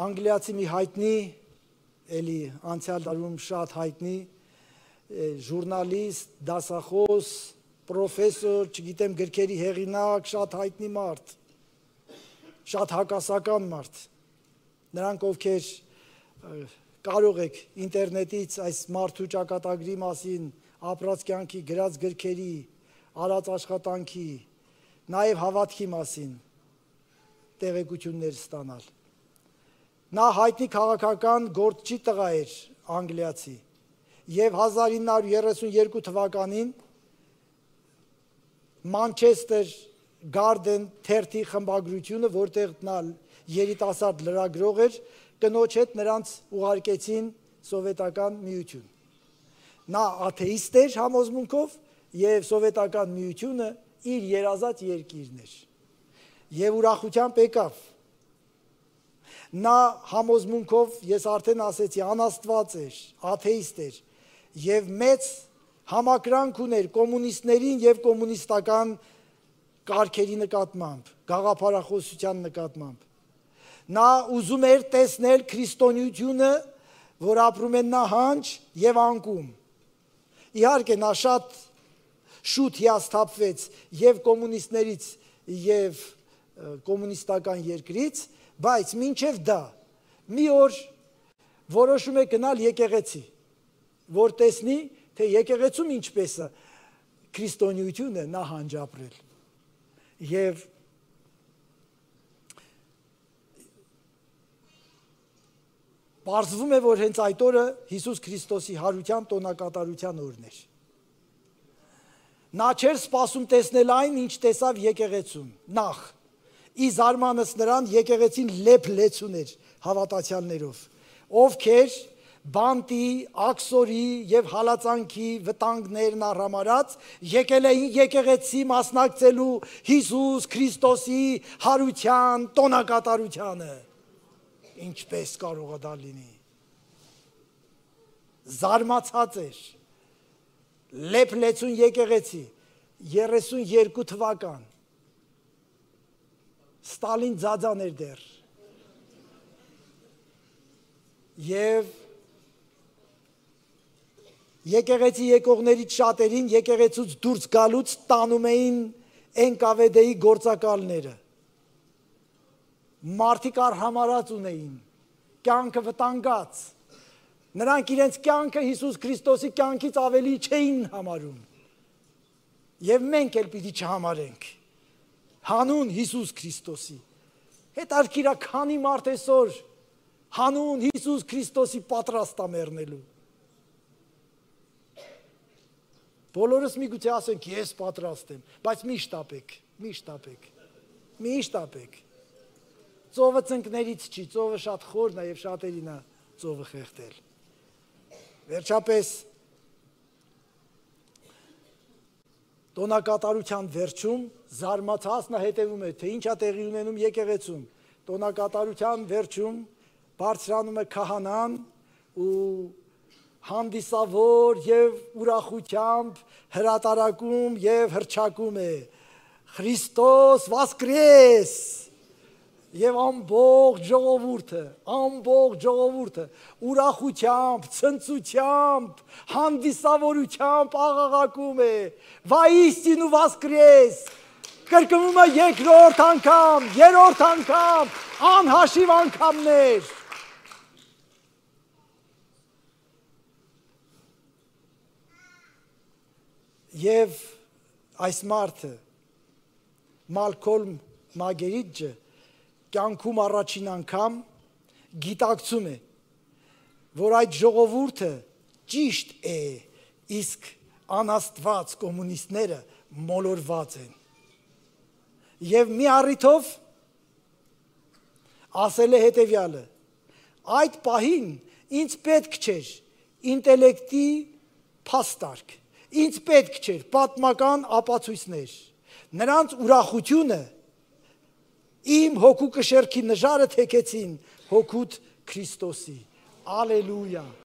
անգլիացի մի հայտնի, էլի անցյալ դարում շատ հայտնի, ժուրնալիստ, դասախոս, պրոֆեսոր, չգիտեմ գրքերի հեղինակ, շատ հայտնի մարդ, շատ հակասական մարդ, նրանք ովքեր կարող եք ինտերնետից այս մարդու ճակատագրի մասին, ապրած կյանքի, գրած գրքերի, արած աշխատանքի, նաև հավատքի մասին տեղեկություններ ստանալ։ Նա հայտնի քաղաքական գործչի տղա էր անգլիացի և 1932 թվականին Մանչեսթեր Գարդեն թերթի խմբագրությունը, որտեղ նա երիտասարդ լրագրող էր, կնոջ հետ նրանց ուղարկեցին սովետական միություն։ Նա աթեիստ էր համոզմունքով և սովետական միությունը իր երազած երկիրն էր։ Եվ ուրախությամբ եկավ։ Նա համոզմունքով, ես արդեն ասեցի, անաստված էր, աթեիստ էր և մեծ համակրանք ուներ կոմունիստներին և կոմունիստական կարգերի նկատմամբ, գաղափարախոսության նկատմամբ։ Նա ուզում էր տեսնել քրիստոնեությունը, որ ապրում են նահանջ և անկում։ Իհարկե նա շատ շուտ հիասթափվեց և կոմունիստներից և կոմունիստական երկրից, բայց մինչև դա մի օր որոշում է գնալ եկեղեցի, որ տեսնի, թե եկեղեցում ինչպես է քրիստոնեությունը նահանջ ապրել։ Եվ պարզվում է, որ հենց այդ օրը Հիսուս Քրիստոսի հարության տոնակատարության օրն էր։ Նա չէր սպասում տեսնել այն, ինչ տեսավ եկեղեցում, նախ, ի զարմանս նրան եկեղեցին լեփ լեցուն էր հավատացյալներով, ովքեր բանտի, աքսորի և հալածանքի վտանգներն առհամարած եկել էին եկեղեցի մասնակցելու Հիսուս Քրիստոսի հարության տոնակատարությանը։ Ինչպես կարող է դա լինի։ Զարմացած էր։ Լեփ լեցուն եկեղեցի, 32 թվական, Ստալին ձաձան էր դեռ։ Եվ եկեղեցի եկողներից շատերին եկեղեցուց դուրս գալուց տանում էին NKVD-ի գործակալները։ Մարդիկ արհամարած ունեին, կյանքը վտանգած։ Նրանք իրենց կյանքը Հիսուս Քրիստոսի կյանքից ավելի չէին համարում։ Եվ մենք էլ պիտի չհամարենք։ Հանուն Հիսուս Քրիստոսի։ Հետարքիր է քանի մարդ այսօր հանուն Հիսուս Քրիստոսի պատրաստ է մեռնելու։ Բոլորս միգուցե ասենք ես պատրաստ եմ, բայց մի շտապեք, մի շտապեք, մի շտապեք։ Ծովը ծնկներից չի, ծովը շատ խորն է և շատերին է ծովը խեղդել։ Վերջապես տոնակատարության վերջում զարմացած նա հետևում է, թե ինչ է տեղի ունենում եկեղեցում։ Տոնակատարության վերջում բարձրանում է քահանան ու հանդիսավոր և ուրախությամբ հրատարակում և հռչակում է. Քրիստոս Վասկրես! Եվ ամբողջ ժողովուրդը ուրախությամբ, ցնծությամբ, հանդիսավորությամբ աղաղակում է. Վայիստինու Վասկրես! Կրկնում է երկրորդ անգամ, երրորդ անգամ, անհաշիվ անգամներ։ Եվ այս մարդը, Մալքոլմ Մագերիջը, կյանքում առաջին անգամ գիտակցում է, որ այդ ժողովուրդը ճիշտ է, իսկ անաստված կոմունիստները մոլորված են։ Եվ մի առիթով ասել է հետևյալը. այդ պահին ինձ պետք չէր ինտելեկտի փաստարկ, ինձ պետք չէր պատմական ապացույցներ, նրանց ուրախությունը իմ հոգու կշեռքի նժարը թեքեցին հոգուտ Քրիստոսի։ Ալելույա։